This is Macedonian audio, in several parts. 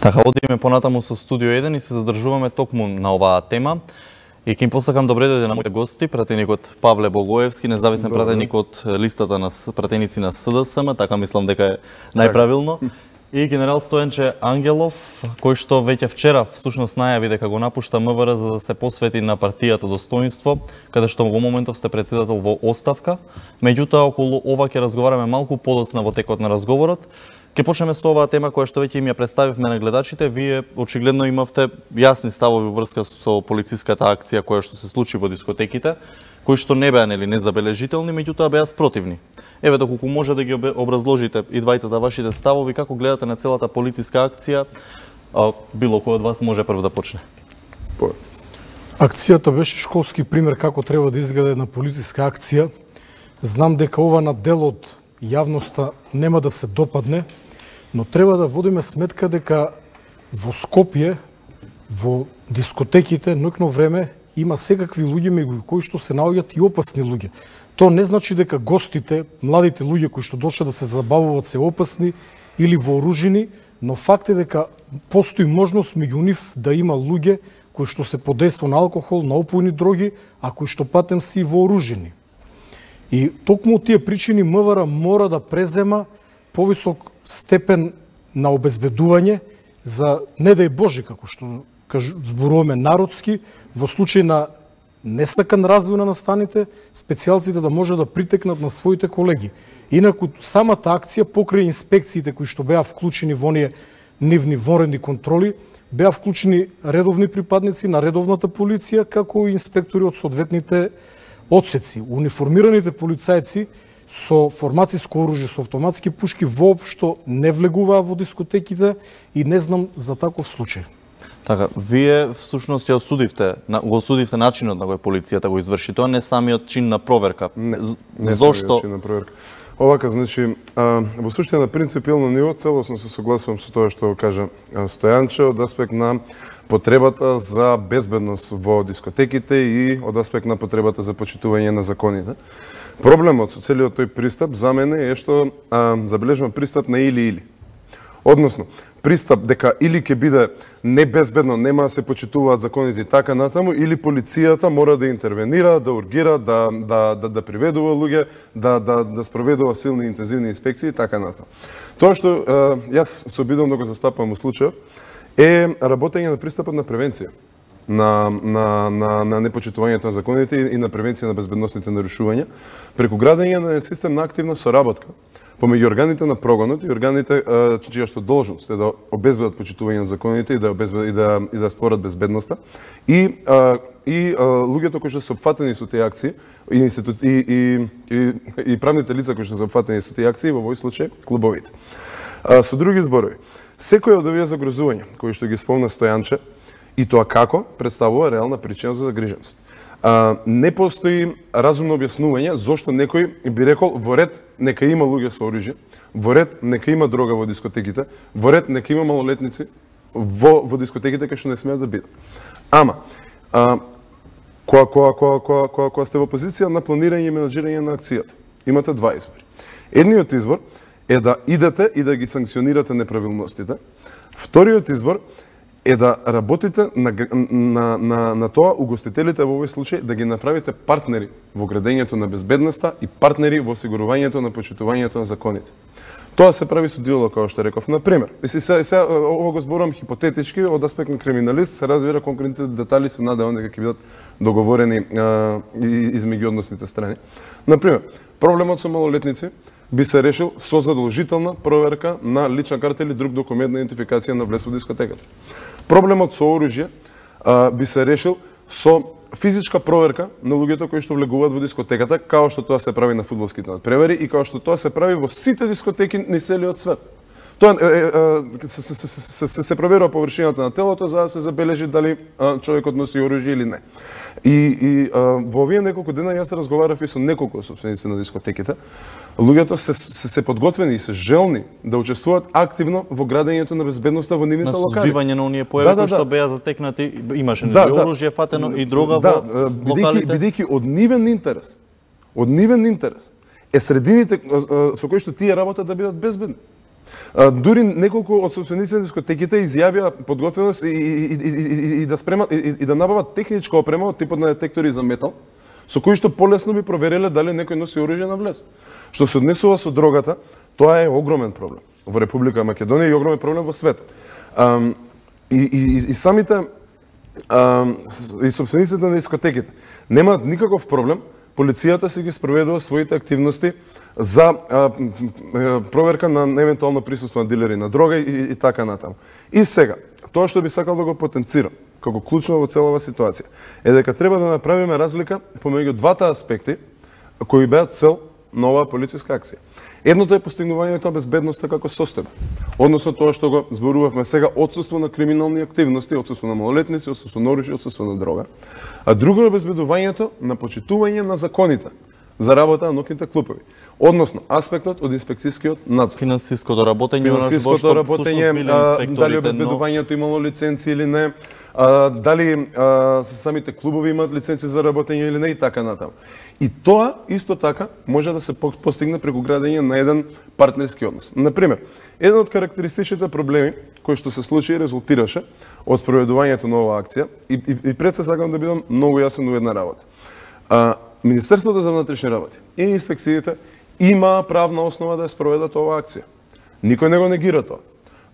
Така, одиме понатаму со Студио 1 и се задржуваме токму на оваа тема. И ќе им посакам добре дојде на моите гости, пратеник од Павле Богоевски, независен пратеник од листата на пратеници на СДСМ, така мислам дека е најправилно. И генерал Стојанче Ангелов, кој што веќе вчера всушност најави дека го напушта МВР за да се посвети на партијата Достоинство, каде што во моментов сте председател во оставка. Меѓутоа, околу ова ќе разговараме малку подоцна во текот на разговорот. Ке почнеме со оваа тема која што веќе им ја представивме на гледачите. Вие очигледно имавте јасни ставови во врска со полициската акција која што се случи во дискотеките, кои што не беа незабележителни, меѓутоа беа спротивни. Еве доколку може да ги образложите и двајцата вашите ставови, како гледате на целата полициска акција, било кој од вас може прв да почне. Акцијата беше школски пример како треба да изгледа една полициска акција. Знам дека ова на дел од јавноста нема да се допадне, но треба да водиме сметка дека во Скопје, во дискотеките, ноќно време има секакви луѓе меѓу кои што се наоѓаат и опасни луѓе. Тоа не значи дека гостите, младите луѓе кои што дошле да се забавуваат се опасни или вооружени, но факт е дека постои можност меѓу нив да има луѓе кои што се под дејство на алкохол, на опојни дроги, а кои што патем се и вооружени. И токму тие причини МВР мора да презема повисок степен на обезбедување за, не дај Боже, како што зборуваме народски, во случај на несакан развој на настаните, специјалците да може да притекнат на своите колеги. Инаку, самата акција, покрај инспекциите кои што беа вклучени во оние нивни вонредни контроли, беа вклучени редовни припадници на редовната полиција, како и инспектори од соодветните одсеци. Униформираните полицајци со формациско оружје, со автоматски пушки, воопшто не влегуваа во дискотеките и не знам за таков случај. Така, вие всушност ја го осудивте начинот на кој полицијата го изврши тоа, не самиот чин на проверка. Не Зошто? самиот чин на проверка. Овака, значи, во суштина на принципиално ниво, целосно се согласувам со тоа што кажа Стојанче од аспект на потребата за безбедност во дискотеките и од аспект на потребата за почитување на законите. Проблемот со целиот тој пристап за мене е што забележувам пристап на или-или. Односно, пристап дека или ќе биде небезбедно, нема да се почитуваат законите и така натаму, или полицијата мора да интервенира, да ургира, да приведува луѓе, да спроведува силни интензивни инспекции и така натаму. Тоа што јас се обидувам да го застапам во случајот е работење на пристапот на превенција на непочитувањето на законите и на превенција на безбедносните нарушувања преку градење на систем на активна соработка помеѓу органите на прогонот и органите чија што должност е да обезбедат почитување на законите и да створат безбедноста и луѓето кои што се опфатени со тие акции и правните лица кои што се опфатени со тие акции, во овој случај клубовите. Со други зборови, секој од овие загрозувања кои што ги спомна Стојанче и тоа како представува реална причина за загриженост. Не постои разумно објаснување зошто некој би рекол во ред нека има луѓе со оружје, во ред нека има дрога во дискотеките, во ред нека има малолетници во дискотеките кај што не смеат да бидат. Ама кога сте во позиција на планирање и менаџирање на акцијата, имате два избори. Едниот избор е да идете и да ги санкционирате неправилностите. Вториот избор е да работите на тоа угостителите во овој случај да ги направите партнери во градењето на безбедноста и партнери во осигурувањето на почитувањето на законите. Тоа се прави со диалог, како што реков. Например, ова го зборувам хипотетички, од аспект на криминалист, се разбира конкретните детали се надевам дека ќе бидат договорени измеѓу односните страни. Например, проблемот со малолетници би се решил со задолжителна проверка на лична карта или друг документ на идентификација на влез во дискотеката. Проблемот со оружје би се решил со физичка проверка на луѓето кои што влегуваат во дискотеката, како што тоа се прави на фудбалските надпревари и како што тоа се прави во сите дискотеки на целиот свет. Тоа се проверува површината на телото за да се забележи дали човекот носи оружје или не. И во овие неколку дена јас разговарав и со неколку собственици на дискотеките. Луѓето се подготвени и се желни да учествуваат активно во градењето на безбедноста во нивните локали. На сузбивање на оние појави кои што беа затекнати, имаше оружје фатено и друга во локалите. Бидејќи од нивен интерес е средините со кои што тие работат да бидат безбедни. Дури неколку од собствениците на дискотеките изјавија подготвеност и да спремат и да набават техничка опрема од типот на детектори за метал, со кои што полесно би провериле дали некој носи оружје на влез. Што се однесува со дрогата, тоа е огромен проблем во Република Македонија и огромен проблем во светот. И самите и собствениците на дискотеките немаат никаков проблем полицијата си ги спроведува своите активности за проверка на евентуално присуство на дилери на дрога и така натаму. И сега, тоа што би сакал да го потенцирам како клучно во целава ситуација е дека треба да направиме разлика помеѓу двата аспекти кои беа цел на оваа полициска акција. Едното е постигнувањето на безбедноста како состојба, односно тоа што го зборувавме сега, отсуство на криминални активности, отсуство на малолетници, отсуство на оружје, отсуство на дрога, а друго е обезбедувањето на почитување на законите за работа на ноќните клубови. Односно, аспектот од инспекцијскиот надзор. Финансиското работење, финансиското работење, дали обезбедувањето имало лиценци или не, дали самите клубови имаат лиценци за работење или не и така натаму. И тоа исто така може да се постигне преку градење на еден партнерски однос. Например, еден од карактеристичните проблеми кои што се случи и резултираше од спроведувањето на оваа акција и пред се сакам да бидам многу јасен во една работа. Министерството за внатрешни работи и инспекциите има правна основа да ја спроведат оваа акција. Никој не го негира тоа.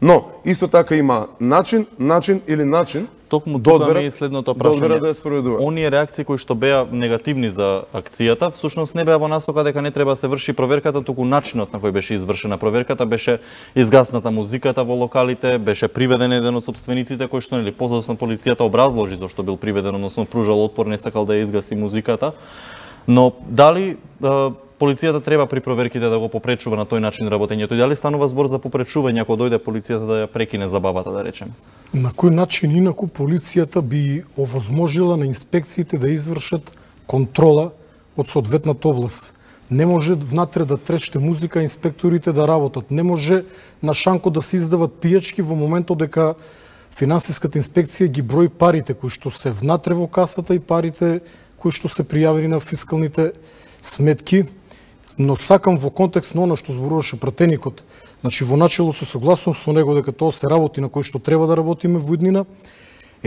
Но, исто така има начин токму тука ми е следното прашање. Да ја спроведува. Оние реакции кои што беа негативни за акцијата, всушност не беа во насока дека не треба да се врши проверката, туку начинот на кој беше извршена проверката, беше изгасната музиката во локалите, беше приведен еден од собствениците кој што нели позасно полицијата образложи зашто бил приведен, односно пружал отпор, не сакал да ја изгаси музиката. Но дали полицијата треба при проверките да го попречува на тој начин работењето? И дали станува збор за попречување ако дојде полицијата да ја прекине забавата, да речем? На кој начин инаку полицијата би овозможила на инспекциите да извршат контрола од соодветната област? Не може внатре да тречте музика, инспекторите да работат. Не може на шанко да се издават пијачки во моментот дека финансиската инспекција ги брои парите кои што се внатре во касата и парите кои што се пријавени на фискалните сметки. Но сакам во контекст на оно што зборуваше пратеникот, значи во начело се согласувам со него дека тоа се работи на кој што треба да работиме во иднина.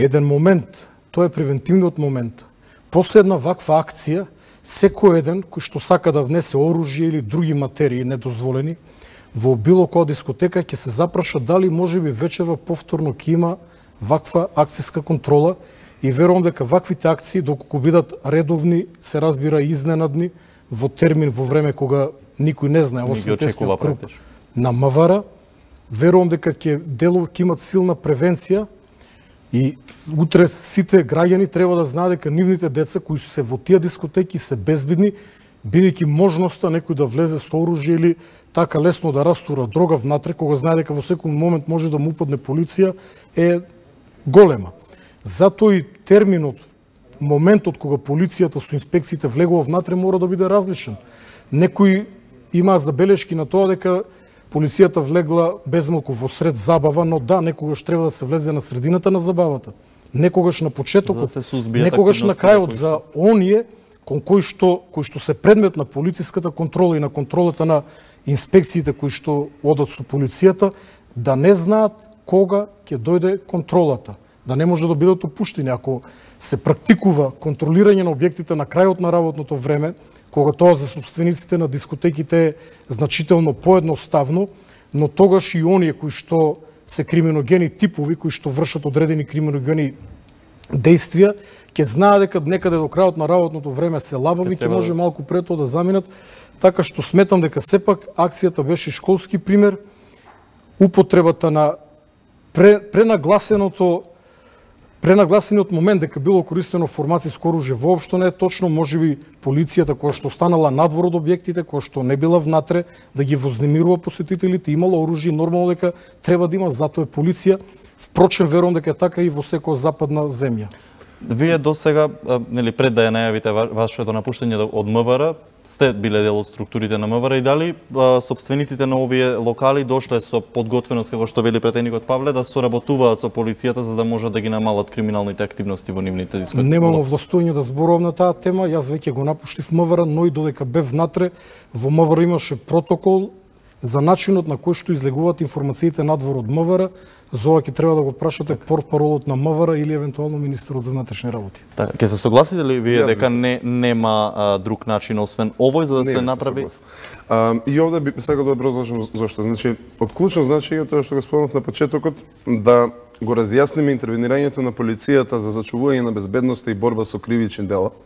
Еден момент, тоа е превентивниот момент. После една ваква акција, секој еден кој што сака да внесе оружје или други материи недозволени во било која дискотека ќе се запраша дали можеби вечерва повторно ќе има ваква акцијска контрола и верувам дека ваквите акции доколку бидат редовни, се разбира изненадни, во термин во време кога никој не знае освен тестиот круг на МВР, верувам дека ќе имат силна превенција и утре сите граѓани треба да знаат дека нивните деца кои се во тие дискотеки се безбедни, бидејќи можноста некој да влезе со оружје или така лесно да растура дрога внатре, кога знае дека во секој момент може да му упадне полиција, е голема. Затоа и терминот, моментот кога полицијата со инспекциите влегува внатре мора да биде различен. Некои имаа забелешки на тоа дека полицијата влегла безмалку во сред забава, но да, некогаш треба да се влезе на средината на забавата. Некогаш на почетокот, некогаш на крајот за оние кои што се предмет на полициската контрола и на контролата на инспекциите кои што одат со полицијата, да не знаат кога ќе дојде контролата, да не може да бидат опуштени. Ако се практикува контролирање на објектите на крајот на работното време, кога тоа за собствениците на дискотеките е значително поедноставно, но тогаш и оние кои што се криминогени типови, кои што вршат одредени криминогени действија, ќе знаат дека некаде до крајот на работното време се лабави, ќе може малку пред тоа да заминат, така што сметам дека сепак акцијата беше школски пример, употребата на пренагласениот момент дека било користено формациско оружје воопшто не е точно, можеби полицијата која што останала надвор од објектите, која што не била внатре да ги вознемирува посетителите, имала оружје, нормално дека треба да има, затоа е полиција. Впрочем, верувам дека е така и во секоја западна земја. Вие досега, нели пред да ја најавите вашето напуштање од МВР, сте биле дел од структурите на МВР и дали собствениците на овие локали дошле со подготвеност, како што вели претеникот Павле, да соработуваат со полицијата за да можат да ги намалат криминалните активности во нивните дискотеки? Немам овластување да зборувам на таа тема, јас веќе го напуштив МВР, но и додека бев внатре, во МВР имаше протокол за начинот на кој што излегуваат информациите надвор од МВР. За ова ќе треба да го прашате портпаролот на МВР или евентуално министерот за внатрешни работи. Така, ќе се согласите ли вие дека нема друг начин освен овој за да се направи? И овде би сакал да образложам зошто. Значи, од клучно значење тоа што го спомнав на почетокот, да го разјасниме интервенирањето на полицијата за зачувување на безбедноста и борба со кривични дела,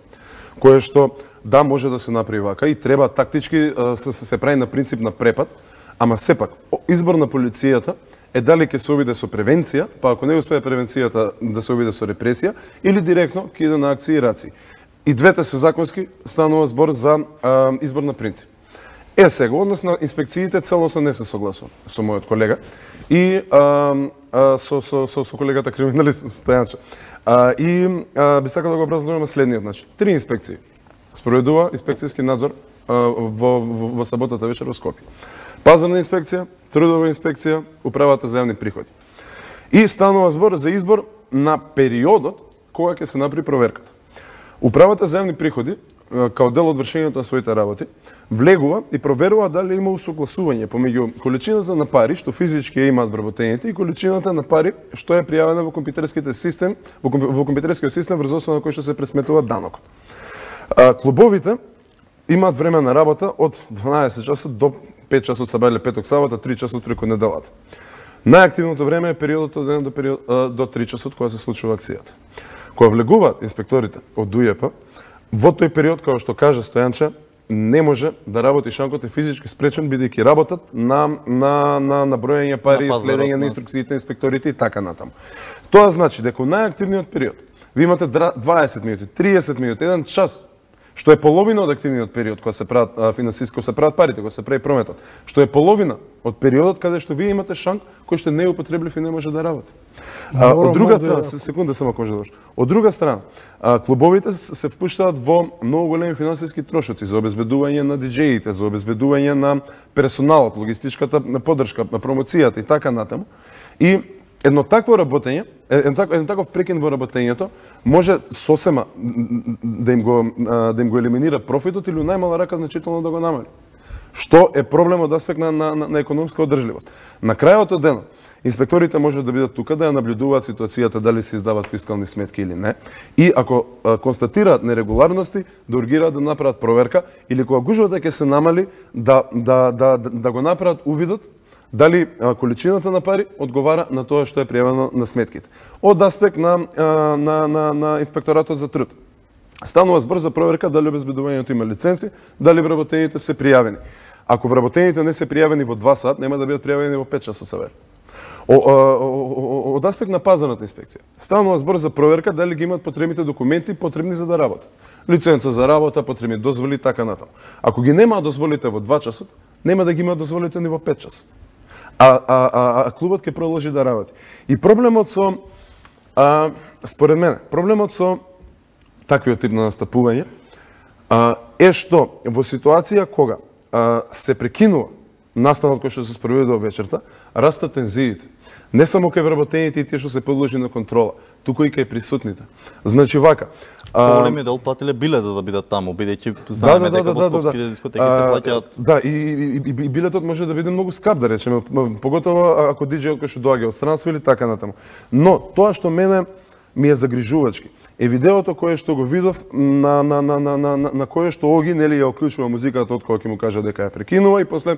кое што да може да се направи вака и треба тактички се прави на принцип на препад, ама сепак избор на полицијата е дали ќе се обиде со превенција, па ако не успее превенцијата да се обиде со репресија, или директно ќе иде на акции и раци. И двете се законски, станува збор за избор на принцип. Сега, однос на инспекциите, целосно не се согласувам со мојот колега и со колегата криминалист Стојанче. Би сакал да го образложам на следниот начин. 3 инспекции спроведува инспекцијски надзор во саботата вечер во Скопје. Пазарна инспекција, трудова инспекција, управата за јавни приходи. И станува збор за избор на периодот кога ќе се направи проверката. Управата за јавни приходи, као дел од вршењето на своите работи, влегува и проверува дали има усогласување помеѓу количината на пари што физички ја имаат вработените и количината на пари што е пријавена во компјутерскиот систем врз основа на кој што се пресметува данокот. Клубовите имаат време на работа од 12 часот до 5 часот сабајле петок сабота, 3 часот преку неделата. Најактивното време е периодот од 1 до 3 часот кога се случува акцијата. Кога влегуваат инспекторите од УЈП, во тој период, како што кажа Стојанче, не може да работи шанкот е физички спречен, бидејќи работат на бројање пари, следење на инструкциите, инспекторите и така натаму. Тоа значи дека во најактивниот период ви имате 20 минути, 30 минути, 1 час, што е половина од активниот период кога се прават финансиски, се прават парите, кога се прави прометот, што е половина од периодот каде што вие имате шанк кој што не е употреблив и не може да работи. Од друга страна, секунда само ако може да довршам. Од друга страна, клубовите се впуштаат во многу големи финансиски трошоци за обезбедување на диџеите, за обезбедување на персоналот, логистичката поддршка, на промоцијата и така натаму. И едно такво работење, еден таков прекин во работењето може сосема да им го елиминира профитот или најмала рака значително да го намали. Што е проблем од аспект на економска одржливост. На крајот од денот, инспекторите може да бидат тука да ја наблюдуваат ситуацијата дали се издаваат фискални сметки или не, и ако констатираат нерегуларности, да ургираат да направат проверка или кога гужвата ќе се намали да го направат увидот дали количината на пари одговара на тоа што е пријавено на сметките. Од аспект на инспекторатот за труд. Станува збор за проверка дали обезбедувањето има лиценци, дали вработените се пријавени. Ако вработените не се пријавени во 2 сат, нема да бидат пријавени во 5 часа савер. Од аспект на пазарната инспекција. Станува збор за проверка дали ги имаат потребните документи потребни за да работат. Лиценца за работа, потребни дозволи така натаму. Ако ги немаат дозволите во 2 часот, нема да ги имаат дозволите ни во 5 часа. А клубот ќе продолжи да работи. И проблемот со, според мене, проблемот со таквиот тип на настапување е што во ситуација кога се прекинува настанот кој што се спроведува вечерта, растат тензиите. Не само кај вработените и тие што се подложи на контрола, туку и кај присутните. Значи вака. Големиот дел платиле билет за да бидат таму, бидејќи знаеме дека во скопските дискотеки се плаќаат. Да, и билетот може да биде многу скап, да речеме, поготово ако диџејот кој што доаѓа од странство или така натаму. Но тоа што мене ми е загрижувачки е видеото кое што го видов на кое што Оги нели ја оклучува музиката од кога ќе му кажа дека ја прекинува и после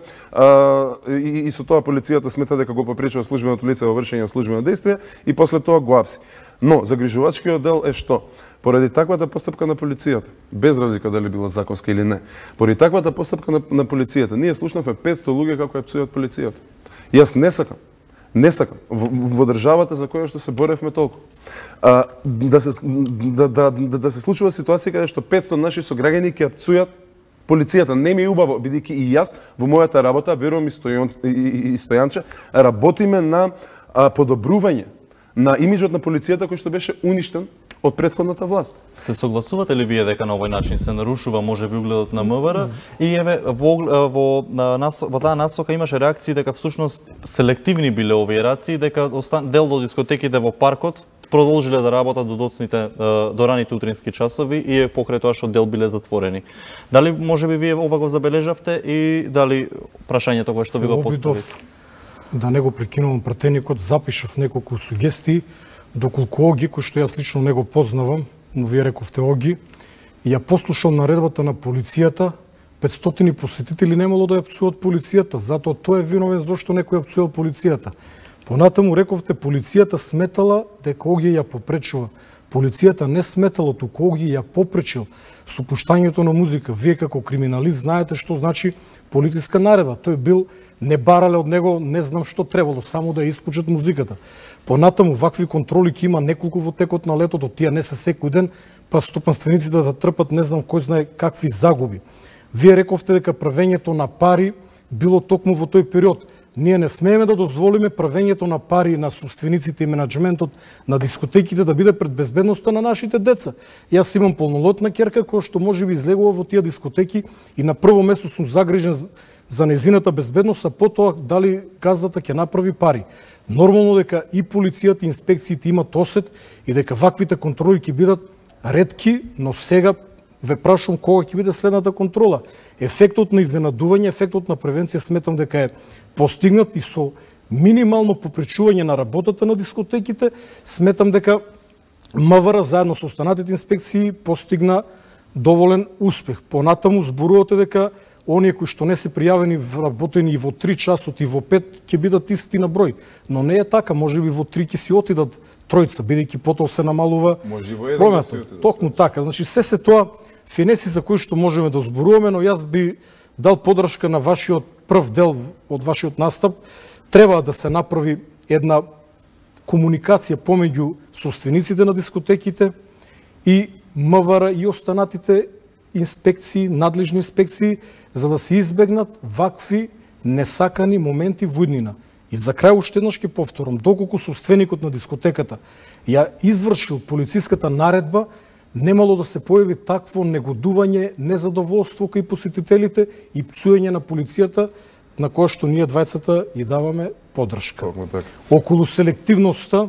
и со тоа полицијата смета дека го попречува службеното лице во вршење на службено действие и после тоа го апси. Но загрижувачкиот дел е што поради таквата постапка на полицијата, без разлика дали била законска или не, поради таквата постапка на полицијата, ние слушнавме 500 луѓе како ја псуваат полицијата. Јас не сакам во државата за која што се боревме толку. Да се случува ситуација каде што 500 наши сограѓани ќе пцујат полицијата. Не ми е убаво, бидејќи и јас во мојата работа, верувам и Стојанче, работиме на подобрување на имиджот на полицијата кој што беше уништен од претходната власт. Се согласувате ли вие дека на овој начин се нарушува можеби угледот на МВР? И еве во таа насока имаше реакции дека всушност селективни биле овие реакции, дека дел од дискотеките во паркот продолжиле да работат до раните утрински часови и покрај тоа што дел биле затворени. Дали можеби вие ова го забележавте и дали прашањето кое што ви го поставив? Да не го прекинувам пратеникот, запишав неколку сугестии, доколку Оги, кој што јас лично не го познавам, но вие рековте Оги, ја послушал наредбата на полицијата, 500 посетители немало да ја пцуваат полицијата, затоа тој е виновен зашто некој ја пцувал полицијата. Понатаму рековте полицијата сметала дека Оги ја попречува. Полицијата не сметала, туку Оги ја попречил со пуштањето на музика. Вие како криминалист знаете што значи полициска наредба. Тој бил, не барале од него, не знам што требало, само да ја исклучат музиката. Понатаму вакви контроли ќе има неколку во текот на летото, тие не се секој ден, па стопанствениците да трпат не знам кој знае какви загуби. Вие рековте дека правењето на пари било токму во тој период. Ние не смееме да дозволиме правењето на пари на собствениците и менаџментот на дискотеките да биде пред безбедноста на нашите деца. Јас имам полнолетна ќерка која што можеби излегува во тие дискотеки и на прво место сум загрижен за незината безбедност, а потоа дали газдата ќе направи пари. Нормално дека и полицијата и инспекциите имат осет и дека ваквите контроли ќе бидат ретки, но сега ве прашувам кога ќе биде следната контрола. Ефектот на изненадување, ефектот на превенција сметам дека е постигнат и со минимално попречување на работата на дискотеките, сметам дека МВР заедно со останатите инспекции постигна доволен успех. Понатаму зборувате дека оние кои што не се пријавени вработени и во 3 часот и во 5 ќе бидат исти на број. Но не е така, можеби во 3 ќе си отидат тројца, бидејќи потоа се намалува прометот. Токму така, значи се тоа финеси за кои што можеме да зборуваме, но јас би дал подршка на вашиот прв дел од вашиот настап. Треба да се направи една комуникација помеѓу собствениците на дискотеките и МВР и останатите инспекции, надлежни инспекции, за да се избегнат вакви несакани моменти во иднина. И за крај уште еднаш ќе повторам, доколку собственикот на дискотеката ја извршил полициската наредба, немало да се појави такво негодување, незадоволство кај посетителите и пцуење на полицијата, на која што ние двајцата и даваме поддршка. Околу селективноста,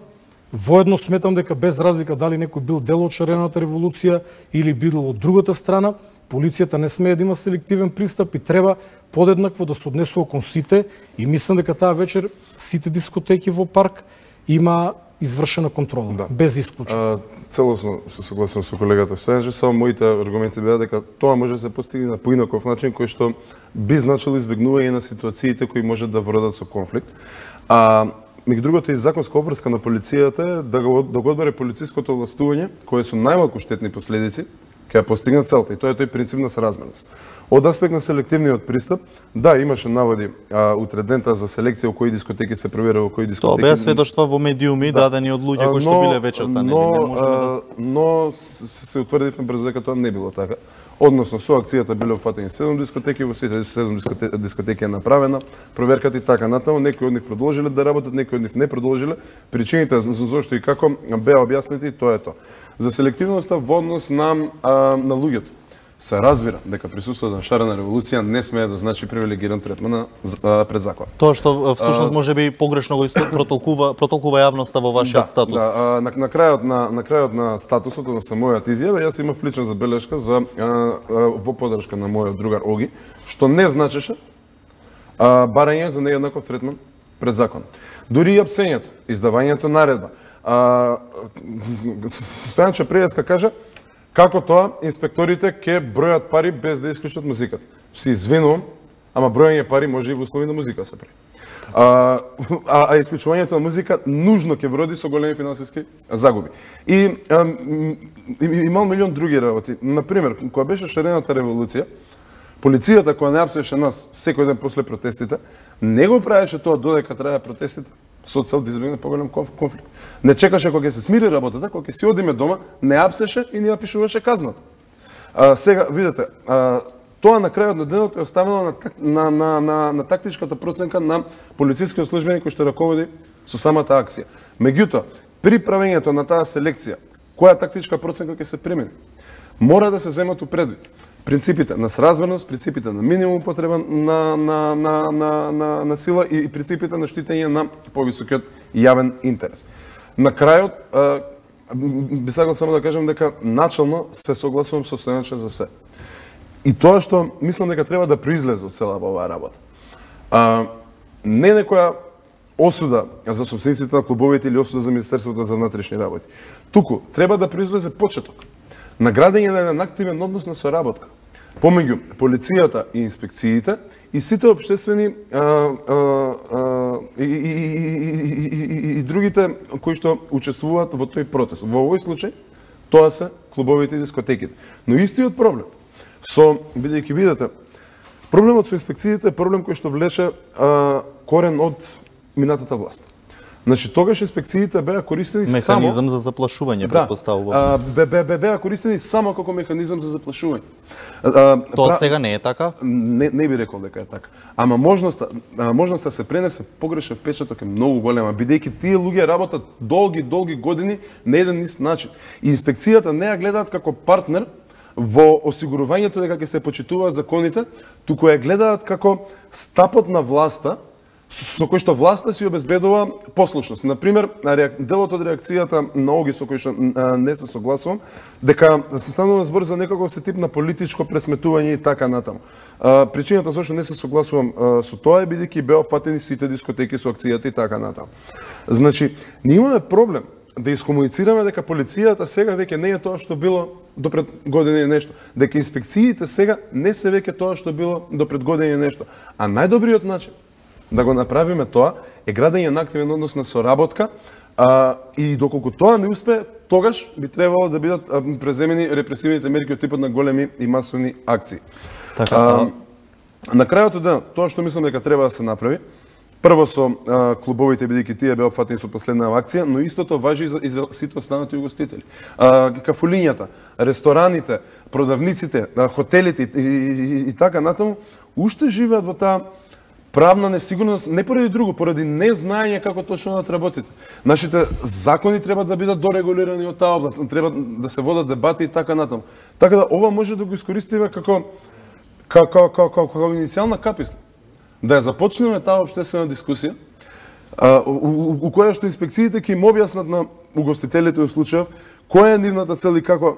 воедно сметам дека без разлика дали некој бил дел од шарената револуција или бил од другата страна, полицијата не смее да има селективен пристап и треба подеднакво да се однесува кон сите и мислам дека таа вечер сите дискотеки во парк има извршена контрола, да. Без исклучок. Целосно се согласувам со колегата Стојанче, само моите аргументи беа дека тоа може да се постигне на поинаков начин кој што би значило избегнување на ситуациите кои може да водат со конфликт. Меѓу другото и законска обврска на полицијата е да го одбере полициското властување, кое со најмалку штетни последици, ќе постигнат целта и тоа е тој принцип на соразмерност. Од аспект на селективниот пристап, да, имаше наводи утредента за селекција во кои дискотеки се проверува, во кои дискотеки. Тоа беа сведоштва во медиуми дадени од луѓе кои што биле вечерта, но се утврдивме брзо дека тоа не било така. Односно, со акцијата биле опфатени 7 дискотеки, во сите 7 дискотеки е направена проверката и така натаму. Некои од нив продолжиле да работат, некои од нив не продолжиле. Причините за зошто и како беа објаснети, тоа е тоа. За селективноста во однос на луѓето. Се разбира дека присуството на шарена револуција не смее да значи привилегиран третман пред закон. Тоа што всушност можеби погрешно го протолкува јавноста во вашиот статус. Да, на крајот на статусот, односно мојата изјава, јас имав лична забелешка за во поддршка на мојот другар Оги, што не значеше барање за нееднаков третман пред закон. Дури и апсењето, издавањето наредба. Стојанче Прејаска кажа како тоа инспекторите ќе бројат пари без да исклучат музиката. Се извинувам, ама бројање пари може и во услови на музика се прави. Исклучувањето на музика нужно ќе вроди со големи финансиски загуби. И имал милион други работи. Например, кога беше шарената револуција, полицијата која не апсеше нас секој ден после протестите, не го правеше тоа додека траја протестите, со цел да избегне поголем конфликт. Не чекаше кога ќе се смири работата, кога ќе си одиме дома, не апсеше и не ја пишуваше казната. Сега, видете, тоа на крајот на денот е оставено на тактичката проценка на полицискиот службеник кој што раководи со самата акција. Меѓутоа, при правењето на таа селекција, која тактичка проценка ќе се примени, мора да се земат предвид принципите на соразмерност, принципите на минимум употреба на сила и принципите на штитење на повисокиот јавен интерес. На крајот, би сакал само да кажам дека начално се согласувам со Стојанче за се. И тоа што мислам дека треба да произлезе од целата оваа работа. Не некоја осуда за собствениците на клубовите или осуда за Министерството за внатрешни работи. Туку треба да произлезе почеток на градење на еден активен однос на соработка помеѓу полицијата и инспекциите и сите општествени и другите кои што учествуваат во тој процес. Во овој случај тоа се клубовите и дискотеките. Но истиот проблем бидејќи видите, проблемот со инспекциите е проблем кој што влеше корен од минатата власт. Значи, тогаш инспекциите беа користени само... Механизам за заплашување, предпоставувам. Беа користени само како механизам за заплашување. Тоа сега не е така? Не би рекол дека е така. Ама можноста се пренесе погрешен впечаток е многу голема, бидејќи тие луѓе работат долги години на еден ист начин. И инспекцијата не ја гледаат како партнер во осигурувањето дека ќе се почитуваат законите, туку ја гледаат како стапот на власта со кој што власта си обезбедува послушност. Например, делот од реакцијата на Оги со кој што не се согласувам, дека се станува збор за некаков се тип на политичко пресметување и така натаму. Причината зашто не се согласувам со тоа е бидејќи беа опфатени сите дискотеки со акцијата и така натаму. Значи, ние имаме проблем да искомуницираме дека полицијата сега веќе не е тоа што било до пред година и нешто, дека инспекциите сега не се веќе тоа што било до пред година и нешто. А најдобриот начин да го направиме тоа е градење на активен однос на соработка и доколку тоа не успее, тогаш би требало да бидат преземени репресивните мерки од типот на големи и масовни акции. Така, на крајот од денот, тоа што мислам дека треба да се направи, прво со клубовите, бидејќи тие беа опфатени со последна акција, но истото важи и за сите останати угостители. Кафулињата, рестораните, продавниците, хотелите и така натаму, уште живеат во таа правна несигурност, не поради друго, поради незнаење како точно да работите. Нашите закони треба да бидат дорегулирани од таа област, треба да се водат дебати и така натаму. Така да ова може да го искористиме како иницијална каписна. Да ја започнеме таа општествена дискусија, у која што инспекциите ќе им објаснат на угостителите во случајов која е нивната цел и како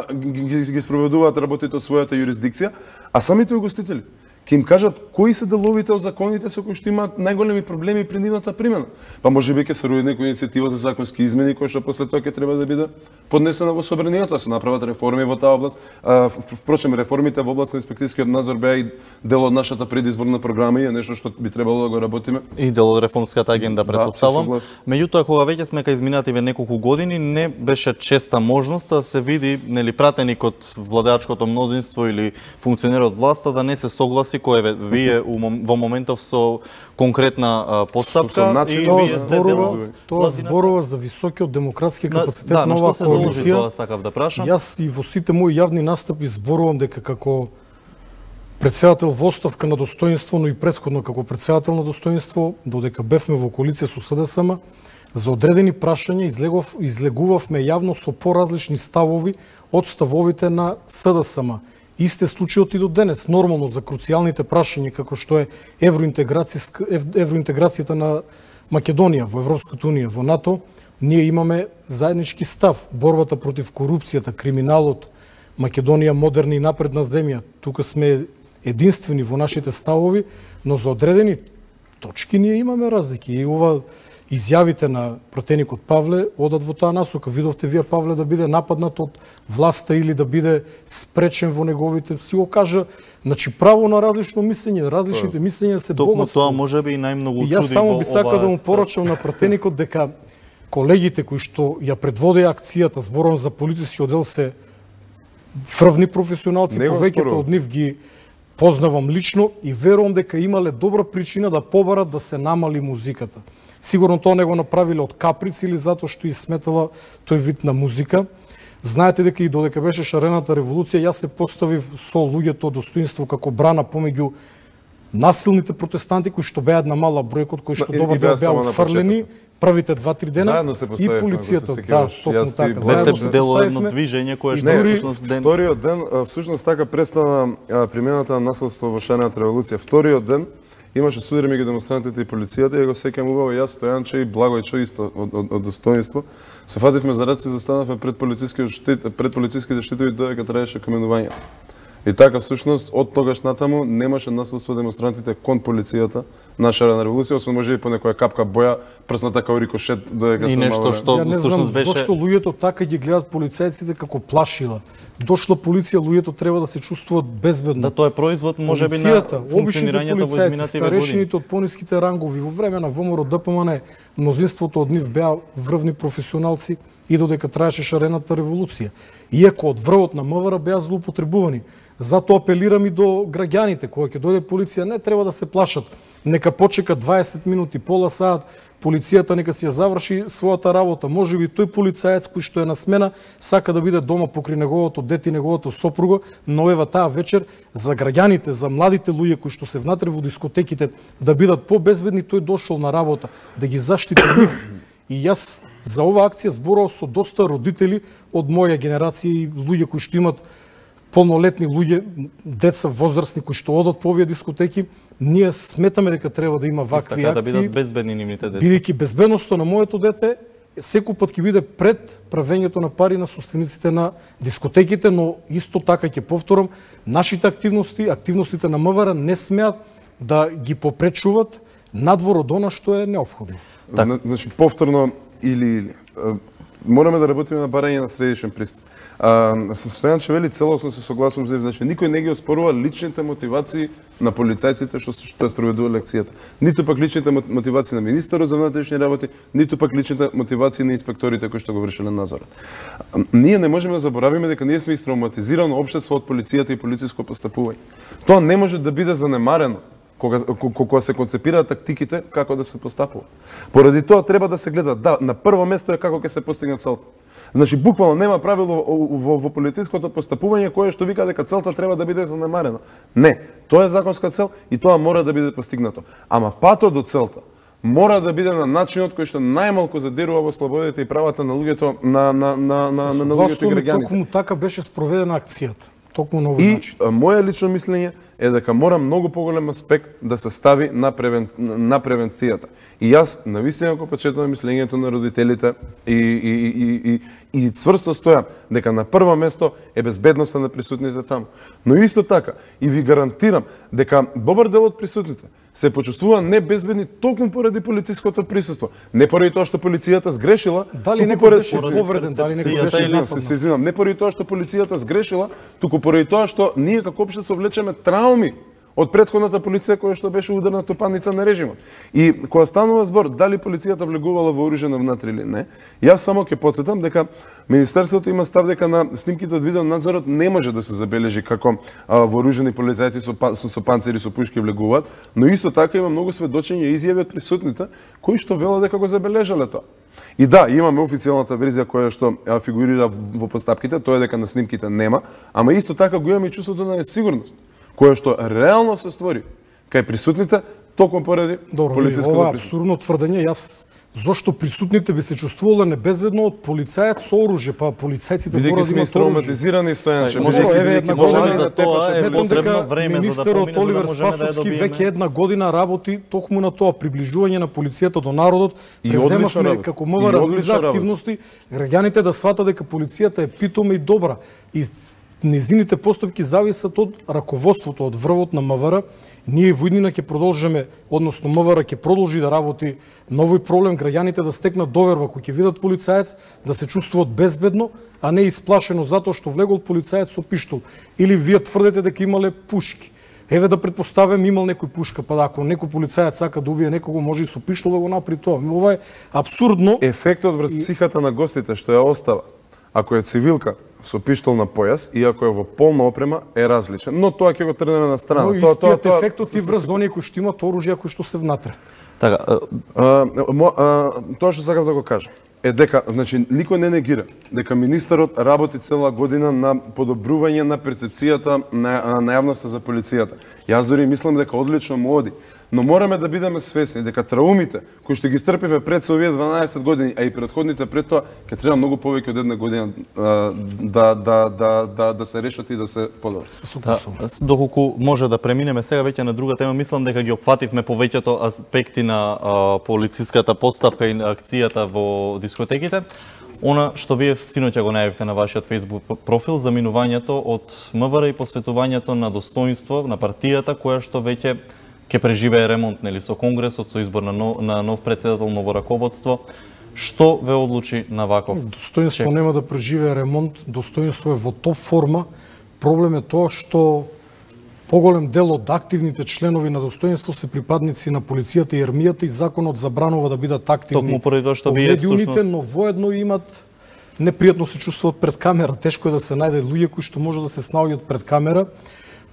ги спроведуваат работите од својата юрисдикција, а самите угостители ќе им кажат кои се деловите од законите со кои што имаат најголеми проблеми при нивната примена. Па можеби ќе се роди некоја иницијатива за законски измени кои што после тоа ќе треба да биде поднесена во собранието, да се направат реформи во таа област. Впрочем, реформите во област на инспекцијскиот надзор беа и дел од нашата предизборна програма и е нешто што би требало да го работиме. И дел од реформската агенда, претпоставам. Меѓутоа, кога веќе сме кај изминативе неколку години, не беше честа можност да се види, нели, пратеник од владеачкото мнозинство или функционер од власта да не се согласи кој вие во моментов со конкретна постапка и тоа зборува за високиот демократски капацитет на оваа коалиција. Јас и во сите мои јавни настапи зборувам дека како председател во оставка на достоинство, но и претходно како председател на достоинство, додека бевме во коалиција со СДСМ, за одредени прашања излегувавме јавно со поразлични ставови од ставовите на СДСМ. Исте случајот и до денес, нормално за круцијалните прашања како што е евроинтеграцијата на Македонија во Европската унија, во НАТО, ние имаме заеднички став. Борбата против корупцијата, криминалот, Македонија модерна и напредна земја. Тука сме единствени во нашите ставови, но за одредени точки ние имаме разлики. И ова изјавите на пратеникот Павле одат во таа насока. Видовте вие Павле да биде нападнат од власта или да биде спречен во неговите, си го кажа, значи право на различно мислење, различните мислења се богатство. Токму тоа можеби и најмногу чуди. Јас само би сакал да му порачам на пратеникот дека колегите кои што ја предводеа акцијата, зборувам за полициски оддел, се врвни професионалци, повеќето од нив ги познавам лично и верувам дека имале добра причина да побарат да се намали музиката. Сигурно тоа не го направиле од каприц или затоа што и сметала тој вид на музика. Знаете дека и додека беше шарената револуција, јас се поставив со луѓето достоинство како брана помеѓу насилните протестанти кои што беа една мала бројка, кои што добар беа уфрлени првите 2-3 дена и полицијата. Да, токму така. Бевте дел од едно движење кое што всушност ден. Вториот ден всушност така престана примената на насилство во шарената револуција. Вториот ден имаше судир меѓу демонстрантите и полицијата, и го сеќам убаво јас, Стојанче и Благојчо исто од достоинство. Се фативме за раце и застанавме пред полициските штитови додека траеше каменувањето. И така всушност од тогаш натаму немаше наследство демонстрантите кон полицијата на шарена револуција, освен може и по некоја капка боја прсната као рикошет додека и нешто што всушност беше. Зошто луѓето така ги гледат полицајците како плашила. Дошла полиција, луѓето треба да се чувствуваат безбедно. Да, тоа е производ можеби на функционирањето во изминативе години. Старешините од пониските рангови во време на ВМРО ДПМН, мнозинството од нив беа врвни професионалци и додека траеше шарената револуција. Иако од врвот на МВР беа злоупотребувани. Затоа апелирам и до граѓаните, кога ќе дојде полиција, не треба да се плашат. Нека почека 20 минути, пола саат, полицијата нека си ја заврши својата работа. Можеби тој полицаец кој што е на смена сака да биде дома покрај неговото дете и неговото сопруга, но ева таа вечер за граѓаните, за младите луѓе кои што се внатре во дискотеките да бидат побезбедни, тој дошол на работа да ги заштити нив. И јас за оваа акција зборував со доста родители од моја генерација и луѓе кои што имат полнолетни луѓе, деца возрастни кои што одат по овие дискотеки. Ние сметаме дека треба да има вакви акции. Да бидат безбедни нивните деца. Бидејќи безбедноста на моето дете секој пат ќе биде пред правењето на пари на собствениците на дискотеките, но исто така ќе повторам, нашите активностите на МВР не смеат да ги попречуваат надвор од она што е неопходно. Значи повторно или мораме да работиме на барање на средишен пристап. Стојанче вели целосно се согласувам за, значи никој не ги оспорува личните мотивации на полицајците што ја спроведувале акцијата. Ниту пак личните мотивации на министерот за внатрешни работи, ниту пак личните мотивации на инспекторите кои што го вршеле надзорот. Ние не можеме да заборавиме дека ние сме истравматизирано општество од полицијата и полициско постапување. Тоа не може да биде занемарено кога се концепираат тактиките како да се постапува. Поради тоа треба да се гледа, да, на прво место е како ќе се постигне целта. Значи буквално нема правило во полициското постапување кое што вика дека целта треба да биде занемарена. Не, тоа е законска цел и тоа мора да биде постигнато. Ама патот до целта мора да биде на начинот кој што најмалку задирува во слободите и правата на луѓето на луѓето и граѓаните. Токму така беше спроведена акцијата. Токму на овој начин. И моје лично мислење е дека мора многу поголем аспект да се стави на превенцијата. И јас навистина го почетувам мислењето на родителите и цврсто стојам дека на прво место е безбедноста на присутните таму. Но исто така и ви гарантирам дека добар дел од присутните се почувствува небезбедни токму поради полициското присуство. Не поради тоа што полицијата сгрешила, дали некој беше повреден, дали некој се извинам, не поради тоа што полицијата сгрешила, туку поради тоа што ние како општество влечеме трауми од претходната полиција која што беше ударната паница на режимот. И кога станува збор дали полицијата влегувала вооружена внатре или не, јас само ќе потсетам дека Министерството има став дека на снимките од видеонадзорот не може да се забележи како вооружени полицајци со панцири со пушки влегуваат, но исто така има многу сведочења и изјави од присутните кои што велат дека го забележале тоа. И да, имаме официјалната верзија која што фигурира во постапките, тоа е дека на снимките нема, ама исто така го имаме и чувството на несигурност која што реално се створи кај присутните токму поради полициското ова апсурдно тврдење. Јас зошто присутните би се чувствувале небезбедно од полицаец со оружје, па полицајците мора да имаат травматизирани Стојанче. Можеби за тоа е потребно време за да министерот Оливер Спасовски веќе една година работи токму на тоа приближување на полицијата до народот. Преземавме како МВР за активности граѓаните да сватат дека полицијата е питома и добра. И незините постапки зависат од раководството, од врвот на МВР. Ние во иднина ќе продолжиме, односно МВР ќе продолжи да работи на овој проблем, граѓаните да стекнат доверба, кои ќе видат полицаец, да се чувствуваат безбедно, а не исплашено затоа што влегол полицаец со пиштол. Или вие тврдите дека имале пушки. Еве да претпоставам имал некој пушка, па ако некој полицаец сака да убие некого, може и со пиштол да го направи тоа. Ова е апсурдно. Ефектот врз психата на гостите што ја остава, ако е цивилка со пиштол на појас и ако е во полна опрема е различен, но тоа ќе го трнеме на страна. Но истиот ефектот и врз оние кои што имаат оружје, кои што се внатре. Така, тоа што сакав да го кажам е дека, значи, никој не негира дека министерот работи цела година на подобрување на перцепцијата на јавноста за полицијата. Јас дори мислам дека одлично му оди. Но мораме да бидеме свесни дека траумите кои што ги стрпиве пред со овие 12 години, а и предходните пред тоа, ќе треба многу повеќе од една година да се решат и да се подобри. Доколку може да преминеме сега веќе на друга тема, мислам дека ги опфативме повеќето аспекти на полициската постапка и на акцијата во дискотеките. Она што вие синоќа го најавивте на вашиот Facebook профил за минувањето од МВР и посветувањето на достоинство на партијата која што веќе ќе преживее ремонт, нели, со конгресот, со избор на нов председател, ново раководство. Што ве одлучи на ваков? Достоинство нема да преживее ремонт, достоинство е во топ форма. Проблем е тоа што поголем дел од активните членови на достоинство се припадници на полицијата и армијата и законот забранува да бидат активни Токму поради тоа што вие медиумите, но воедно имат непријатно се чувствуваат пред камера. Тешко е да се најде луѓе кои што може да се снаоѓаат пред камера.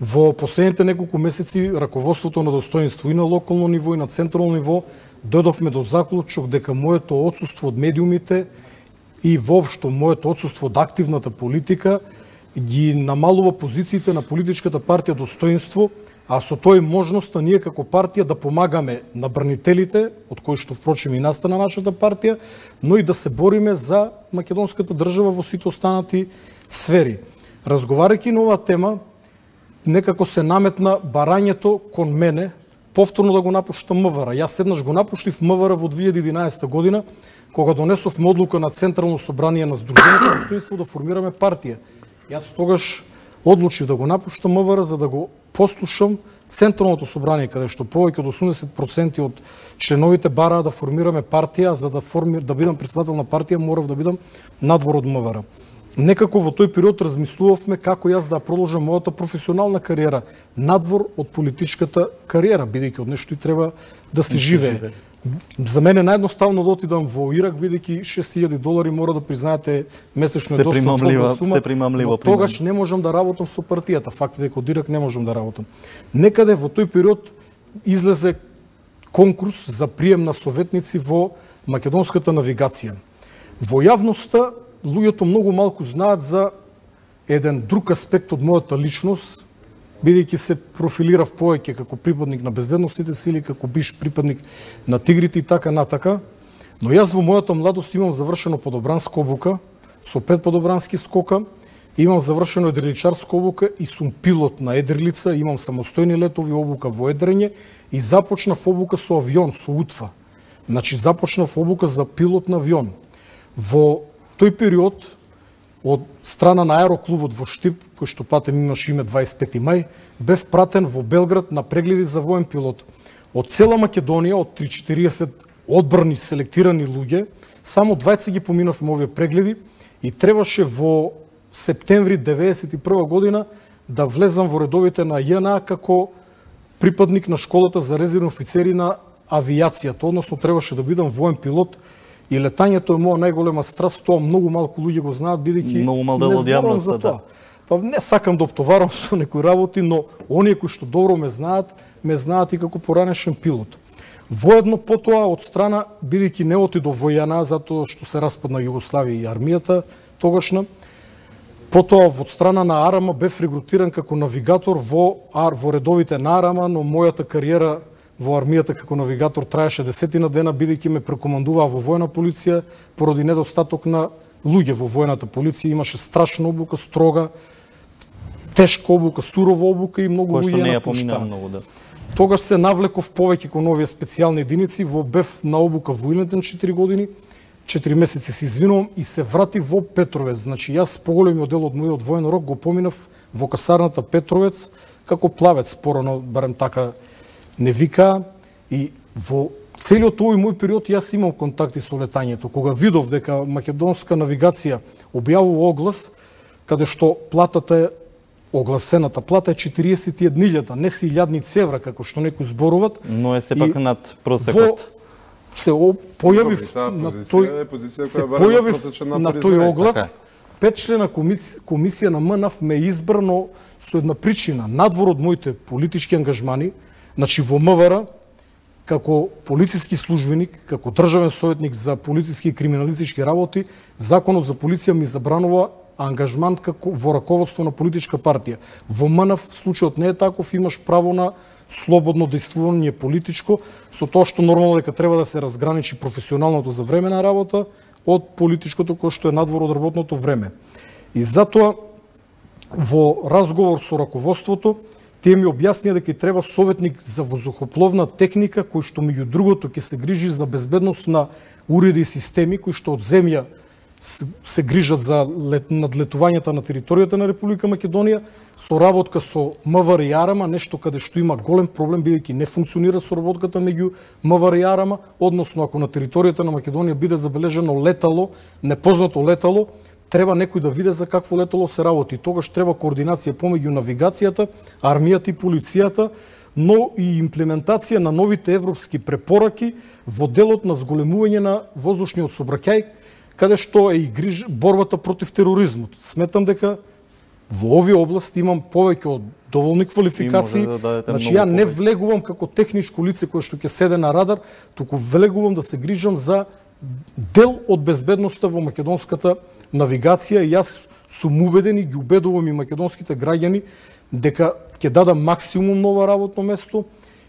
Во последните неколку месеци раководството на достоинство и на локално ниво и на централно ниво дојдовме до заклучок дека моето отсуство од медиумите и воопшто моето отсуство од активната политика ги намалува позициите на политичката партија Достоинство, а со тој можноста ние како партија да помагаме на бранителите, од кои што впрочем и настана нашата партија, но и да се бориме за македонската држава во сите останати сфери. Разговарајќи на оваа тема, некако се наметна барањето кон мене повторно да го напуштам МВР. Јас еднаш го напуштив МВР во 2011 година, кога донесовме одлука на Централно собрание на Сдруженијето Достоинство да формираме партија. Јас тогаш одлучив да го напуштам МВР за да го послушам Централното собрание, каде што повеќе од 80% од членовите бараа да формираме партија, а за да бидам председател на партија морав да бидам надвор од МВР. Некако во тој период размислувавме како јас да продолжам мојата професионална кариера надвор од политичката кариера, бидејќи од нешто и треба да се живее. За мене наједноставно да отидам во Ирак, бидејќи $6,000 мора да признаете месечно е доста добра сума, но тогаш не можам да работам со партијата. Факт е дека од Ирак не можам да работам. Некаде во тој период излезе конкурс за прием на советници во македонската навигација. Во јавноста луѓето многу малку знаат за еден друг аспект од мојата личност, бидејќи се профилирав повеќе како припадник на безбедносните сили, како биш припадник на тигрите и така натака, но јас во мојата младост имам завршено подобранска обука, со 5 подобрански скока, имам завршено едриличарска обука и сум пилот на едрилица, имам самостојни летови обука во едрење и започнав обука со авион, со УТФА. Значи започнав обука за пилот на авион. Во тој период, од страна на аероклубот во Штип, кој што патем имаше име 25 мај, бев пратен во Белград на прегледи за воен пилот. Од цела Македонија, од 340 одбрани, селектирани луѓе, само 20 ги поминавме овие прегледи и требаше во септември 1991 година да влезам во редовите на ЈНА како припадник на школата за резервни офицери на авијацијата, односно требаше да бидам воен пилот. И летањето е моја најголема страст, тоа многу малку луѓе го знаат, бидејќи не зборувам за тоа. Па не сакам да оптоварам со некои работи, но оние кои што добро ме знаат и како поранешен пилот. Воедно потоа од страна, бидејќи не отидов во ЈНА, затоа што се распадна Југославија и армијата тогашна, потоа од страна на АРАМА бев регрутиран како навигатор во редовите на АРАМА, но мојата кариера во армијата како навигатор траеше 10 дена, бидејќи ме прекомандуваа во војна полиција поради недостаток на луѓе во војната полиција. Имаше страшна обука, строга, тешка обука, сурова обука и многу луѓе ја напуштаа. Тогаш се навлеков повеќе кон овие специјални единици, бев на обука во Илинден 4 години, 4 месеци се извинувам и се врати во Петровец. Значи јас поголемиот дел од мојот воен рок го поминав во касарната Петровец како плавец, порано барем така не вика, и во целиот овој мој период јас имам контакти со летањето. Кога видов дека македонска навигација објавува оглас, каде што платата е, огласената плата е 41.000, не си 1000 евра, како што некои зборуват. Но е сепак над просекот. Се појавив на тој оглас, 5-члена комисија на МНАФ ме избрано со една причина, надвор од моите политички ангажмани. Значи во МВР, како полициски службеник, како државен советник за полициски и криминалистички работи, законот за полиција ми забранува ангажман како во раководство на политичка партија. Во МНАФ случајот не е таков, имаш право на слободно действување политичко, со тоа што нормално дека треба да се разграничи професионалното за времена работа од политичкото кој што е надвор од работното време. И затоа во разговор со раководството тие ми објаснија дека треба советник за воздухопловна техника кој што меѓу другото ќе се грижи за безбедност на уреди и системи кои што од земја се грижат за надлетувањата на територијата на Република Македонија, соработка со МВР и АРМА, нешто каде што има голем проблем бидејќи не функционира соработката меѓу МВР и АРМА, односно ако на територијата на Македонија биде забележено летало, непознато летало, треба некој да види за какво летало се работи. Тогаш треба координација помеѓу навигацијата, армијата и полицијата, но и имплементација на новите европски препораки во делот на зголемување на воздушниот сообраќај, каде што е и борбата против тероризмот. Сметам дека во овие области имам повеќе од доволни квалификации. Значи ја не влегувам како техничко лице кое што ќе седе на радар, туку влегувам да се грижам за дел од безбедноста во македонската навигација и јас сум убеден и ги убедувам и македонските граѓани дека ќе дадам максимум нова работно место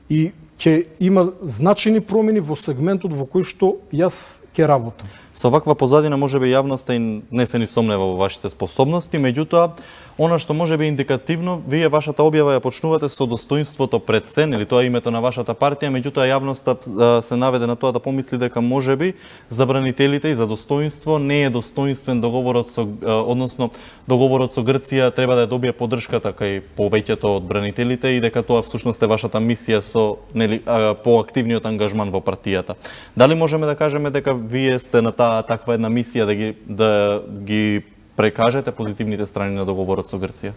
и ќе има значајни промени во сегментот во кој што јас ќе работам. Со ваква позадина можеби јавноста и не се ни сомнева во вашите способности, меѓутоа она што можеби индикативно, вие вашата објава ја почнувате со достоинството пред сен, или тоа е името на вашата партија, меѓутоа јавноста се наведе на тоа да помисли дека можеби забранителите и за достоинство не е достоинствен договорот со, односно договорот со Грција треба да ја добие поддршката кај повеќето од бранителите и дека тоа всушност е вашата мисија со нели поактивниот ангажман во партијата. Дали можеме да кажеме дека вие сте на таква една мисија да ги прекажете позитивните страни на договорот со Грција?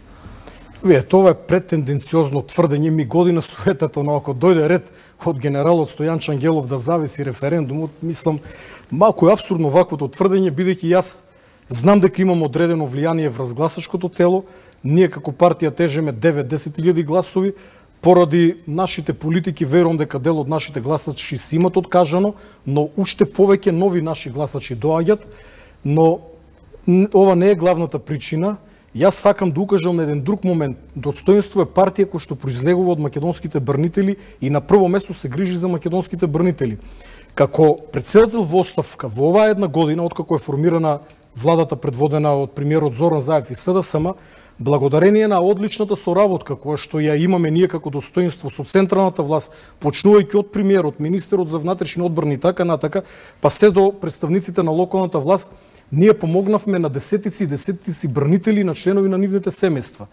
Вие, тоа е претенденциозно тврдење. Ми година суетата, но ако дојде ред од генералот Стојан Ангелов да зависи референдумот, мислам, малку е апсурдно ваквото тврдење, бидејќи јас знам дека имам одредено влијание врз гласачкото тело. Ние како партија тежеме 9-10 гласови. Поради нашите политики, верувам дека дел од нашите гласачи си имат откажано, но уште повеќе нови наши гласачи доаѓат, но ова не е главната причина. Јас сакам да укажам на еден друг момент. Достоинство е партија која што произлегува од македонските брнители и на прво место се грижи за македонските брнители. Како председател во оставка во оваа една година, откако е формирана владата предводена од премиерот Зоран Заев и СДСМ, благодарение на одличната соработка која што ја имаме ние како достоинство со централната власт, почнувајќи од премиерот, министерот за внатрешни одбрани и така натака, па се до представниците на локалната власт, ние помогнавме на десетици и десетици брнители на членови на нивните семејства.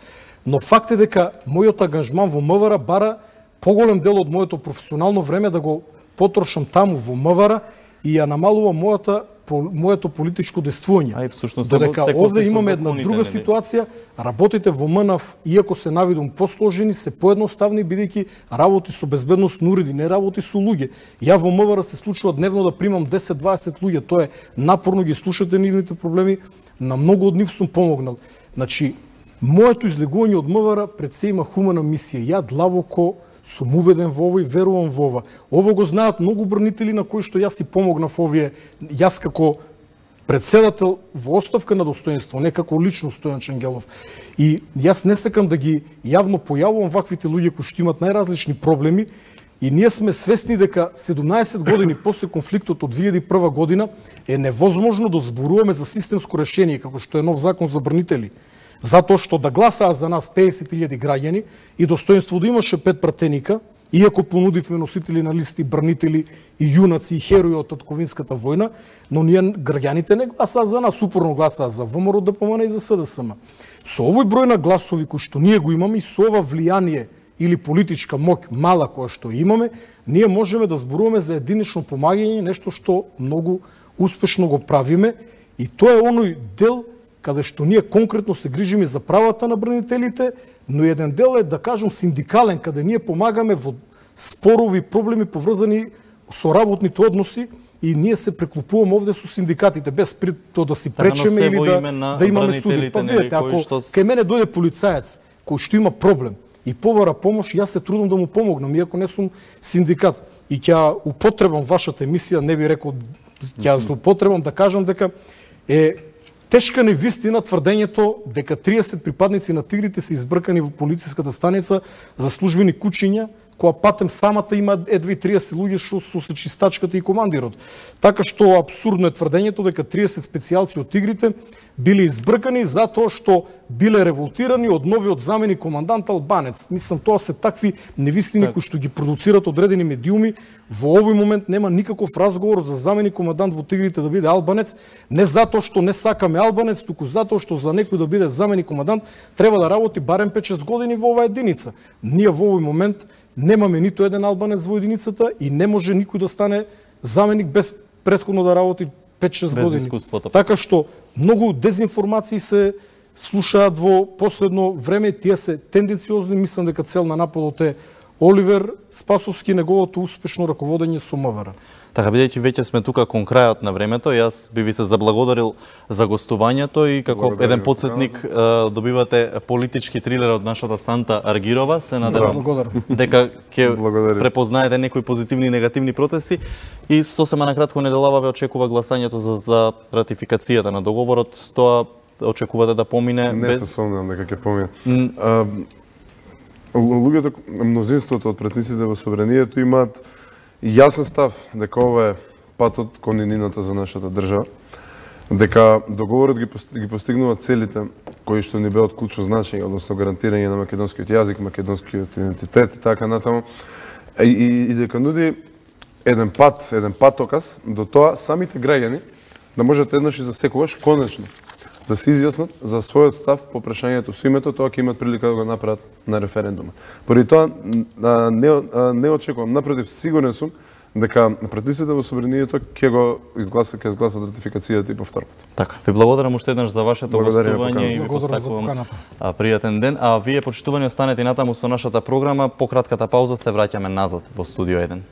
Но факт е дека мојот ангажман во МВР бара поголем дел од моето професионално време да го потрошам таму во МВР и ја намалува моето политичко действување. Додека овде имаме една друга ситуација, работите во МНАФ, иако се навидум посложени, се поедноставни, бидејќи работи со безбедносни уреди, не работи со луѓе. Ја во МВР се случува дневно да примам 10-20 луѓе, тоа е напорно, ги слушате нивните проблеми, на многу од нив сум помогнал. Значи, моето излегување од МВР пред се има хумана мисија. Ја длабоко сум убеден во ова и верувам во ова. Ово го знаат многу брнители на кои што јас си помогнав овие, јас како председател во оставка на достоинство, не како лично Стојан Ангелов. И јас не сакам да ги јавно појавувам ваквите луѓе кои што имат најразлични проблеми и ние сме свесни дека 17 години после конфликтот од 2001 година е невозможно да зборуваме за системско решение како што е нов закон за брнители. Затоа што да гласаа за нас 50.000 граѓани и достоинство да имаше 5 пратеника, иако понудивме носители на листи, брнители и јунаци и херои од татковинската војна, но ние граѓаните не гласаа за нас, упорно гласаа за ВМРО, ДПМН и за СДСМ. Со овој број на гласови кои што ние го имаме и со ова влијание или политичка моќ мала која што имаме, ние можеме да зборуваме за единично помагање, нешто што многу успешно го правиме и тоа е оној дел каде што ние конкретно се грижиме за правата на брнителите, но еден дел е, да кажам, синдикален, каде ние помагаме во спорови, проблеми поврзани со работните односи и ние се преклупуваме овде со синдикатите, без тоа да си пречеме или да имаме суди. Па видите, ако кај мене дојде полицаец кој што има проблем и побара помош, јас се трудам да му помогнам, иако не сум синдикат. И ќе употребам вашата емисија, не би рекол, ќе употребам да кажам дека е тешка невистина тврдењето дека 30 припадници на тигрите се избркани во полициската станица за службени кучиња, кога патем самата има едва и 30 луѓе што со чистачката и командирот. Така што апсурдно е тврдењето дека 30 специјалци од Тигрите биле избркани затоа што биле револтирани од новиот заменик командант албанец. Мислам, тоа се такви невистини кои што ги продуцират одредени медиуми. Во овој момент нема никаков разговор за заменик командант во Тигрите да биде албанец, не затоа што не сакаме албанец, туку затоа што за некој да биде заменик командант треба да работи барем 5-6 години во оваа единица. Ние во овој момент немаме ниту еден албанец во единицата и не може никој да стане заменик без претходно да работи 5-6 години. Така што многу дезинформации се слушаат во последно време, тие се тенденциозни, мислам дека цел на нападот е Оливер Спасовски и неговото успешно раководење со МВР. Така, бидејќи веќе сме тука кон крајот на времето, јас би ви се заблагодарил за гостувањето и како еден подсетник добивате политички трилер од нашата Санта Аргирова. Се надевам дека ќе препознаете некои позитивни и негативни процеси и сосема накратко неделава ве очекува гласањето за ратификацијата на договорот. Тоа очекувате да помине без... Не се сомневам дека ќе помине. Луѓето, мнозинството од претниците во собранието имаат јасен став дека ова е патот кон иднината за нашата држава, дека договорот ги постигнува целите кои што ни бе од клучно значење, односно гарантирање на македонскиот јазик, македонскиот идентитет и така натаму, и дека нуди еден патоказ до тоа самите граѓани да можат еднаш и за секогаш конечно да се изјаснат за својот став по прашањето со името, тоа ќе имат прилика да го направат на референдума. Поради тоа не очекувам, напротив, сигурен сум дека претниците во собранието ќе изгласат ратификацијата и повтор пат. Така, ви благодарам уште еднаш за вашето гостување и ви посакувам пријатен ден, а вие почитувани останете и натаму со нашата програма. По кратката пауза се враќаме назад во студио 1.